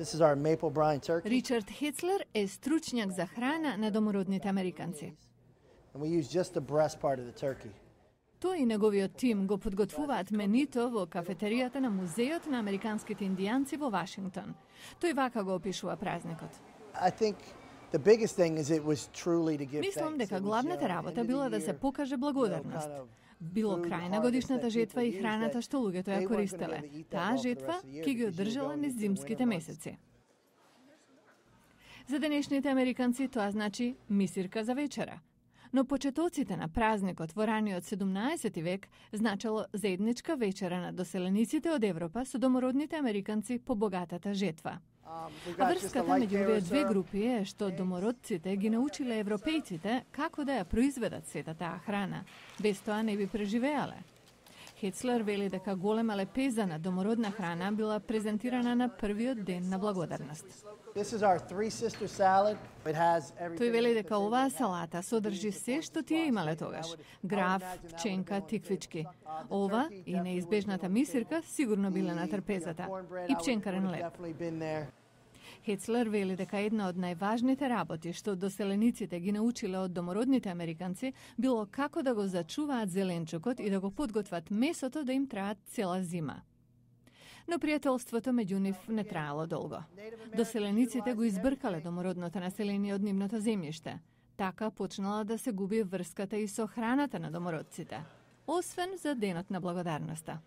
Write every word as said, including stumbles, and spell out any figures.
This is our maple brine turkey. Ричард Хецлер е стручњак за храна на домородните американци. And we use just the breast part of the turkey. Тој и неговиот тим го подготвуваат менито во кафетеријата на Музеот на американските индијанци во Вашингтон. Тој вака го опишува празникот. I think the biggest thing is it was truly to give Мислам thanks. дека It was, главната uh, работа end of била the да се year, покаже you know, благодарност. kind of Било food крај на harvest годишната that жетва и people храната use што луѓето that ја they weren't користеле. gonna be able to eat that Таа well for the жетва rest of the year ќе ги because you were одржала going низ into the зимските winter months. месеци. За денешните американци тоа значи мисирка за вечера. Но почетоците на празникот во раниот седумнаесети век значело заедничка вечера на доселениците од Европа со домородните американци по богатата жетва. А врската меѓу овие две групи е што домородците ги научиле европејците како да ја произведат сета таа храна. Без тоа не би преживеале. Хецлер вели дека голема лепеза на домородна храна била презентирана на првиот ден на благодарност. This is our three sister salad. It has everything. Тој вели дека оваа салата содржи се што тие имале тогаш. Граф, пченка, тиквички. Ова и неизбежната мисирка сигурно биле на трпезата. И пченкарен леп. Хецлер вели дека една од најважните работи што доселениците ги научиле од домородните американци било како да го зачуваат зеленчукот и да го подготват месото да им траат цела зима. Но пријателството меѓу нив не траело долго. Доселениците го избркале домородното население од нивното земјиште. Така почнала да се губи врската и со храната на домородците, освен за денот на благодарноста.